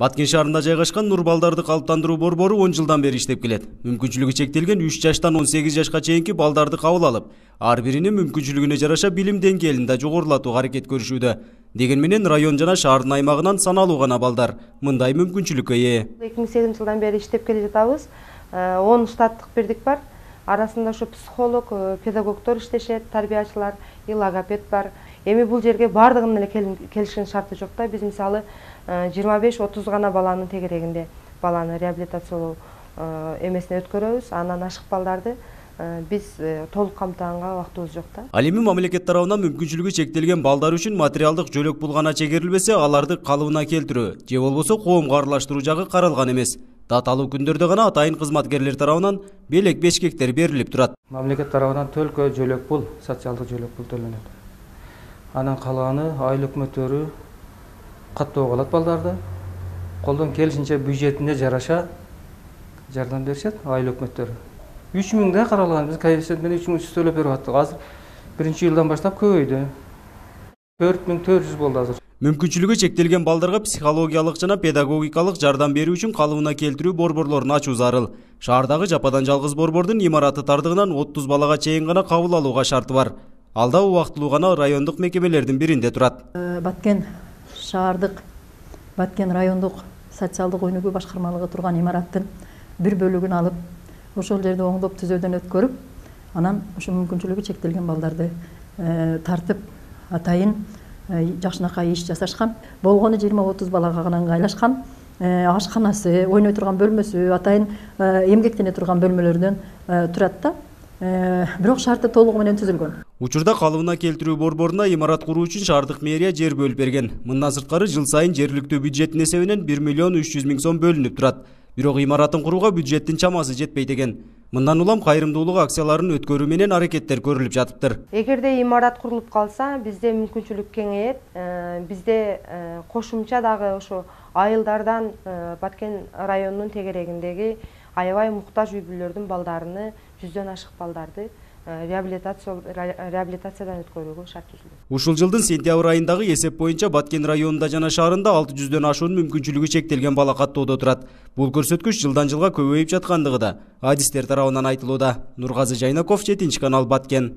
Баткен шаарында жайгашкан Нур балдарды калыптандыруу борбору 10 жылдан бери иштеп келет. Мүмкүнчүлүгү чектелген 3 жаштан 18 жашка чейинки балдарды кабыл алып, ар биринин мүмкүнчүлүгүнө жараша билим деңгээлин да жогорулатууга аракет көрүшүүдө. Деген менен район жана шаардын аймагынан саналуу гана балдар мындай мүмкүнчүлүккө ээ. 2008 жылдан бери иштеп келе жатабыз. 10 штаттык бирдик бар. Арасында ошо психолог, педагогдор иштешет, тарбиячылар, логопед бар. Эми бул жерге бардыгынын эле келишкен шарты жок да. Биз мисалы 25-30 гана баланын тегерегинде баланы реабилитациялоо эмесине өткөрөбүз. Андан ашык балдарды биз толук камтыганга убактыбыз жок да. Ал эми мамлекет тарабынан мүмкүнчүлүгү чектелген балдар үчүн материалдык жөлөк пул гана чегерилбесе, аларды калыбына келтирүү же болбосо коомго аралаштыруу жагы каралган эмес. Даталуу күндөрдө гана атайын кызматкерлер тарабынан белек бешкектер берилип турат. Мамлекет тарабынан төлкө жөлөк пул, социалдык жөлөк пул төлөнөт. Анан калганы айлык өкмөттөрү каттоо кылат балдарды. Колдон келишинче бюджетине жараша жардам беришет айлык өкмөттөрү. 3000 да каралган, биз коэффициент менен 3300 төлөп берип аттык. Азыр биринчи жылдан баштап көбөйдү. 4400 болду азыр. Мүмкүнчүлүгү чектелген балдарга психологиялык жана педагогикалык жардам берүү үчүн калыбына келтирүү борборлорун ачуу зарыл. Шаардагы жападан жалгыз борбордун имараты тардыгынан 30 балага чейин гана кабыл алууга шарты бар. Ал да убактылуу гана райондук мекемелердин биринде турат. Баткен шаардык, Баткен райондук социалдык өнүгүү башкармалыгы турган имараттын бир бөлүгүн алып, ошол жерде оңдоп түзөөдөн өткөрүп, анан ошо мүмкүнчүлүгү чектелген балдарды тартып атайын жакшынакай иш жасашкан. Болгону 20-30 балага гана ыңгайлашкан. Ашканасы, ойной турган бөлмөсү, атайын эмгектене турган бөлмөлөрдөн турат да. Бирок шарты толугу менен түзүлгөн. Учурда калыбына келтирүү борборуна имарат куруу үчүн шаардык мэрия жер бөлүп берген. Мындан сырткары жыл сайын жергиликтүү бюджеттин эсебинен 1 миллион 300 миң сом бөлүнүп турат. Бирок имаратын курууга бюджеттин чамасы жетпейт экен. Мындан улам кайрымдуулук акцияларын өткөрүү менен аракеттер көрүлүп жатыптыр. Эгерде имарат курулуп калса, бизде мүмкүнчүлүк кеңейет. Бизде кошумча дагы ошо айылдардан Баткен районунун тегерегиндеги аябай муктаж үй бүлөлөрдүн балдарыны, 100дөн ашык балдарды реабилитациядан өткөрүүгө шарт түзүлдү. Ушул жылдын сентябрь айындагы эсеп боюнча Баткен районунда жана шаарында 600дөн ашуун мүмкүнчүлүгү чектелген бала каттоодо турат. Бул көрсөткүч жылдан жылга көбөйүп жаткандыгы да адистер тарабынан айтылууда. Нургазы Жайнаков, 7 канал, Баткен.